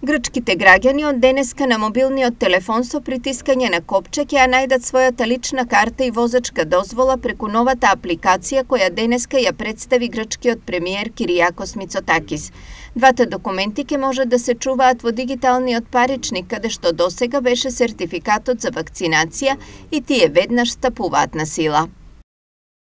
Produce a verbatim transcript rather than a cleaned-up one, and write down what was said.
Грчките граѓани од денеска на мобилниот телефон со притискање на копче ќе ја најдат својата лична карта и возачка дозвола преку новата апликација која денеска ја представи грчкиот премиер Киријакос Мицотакис. Двата документи ќе може да се чуваат во дигиталниот паричник, каде што досега беше сертификатот за вакцинација и тие веднаш стапуваат на сила.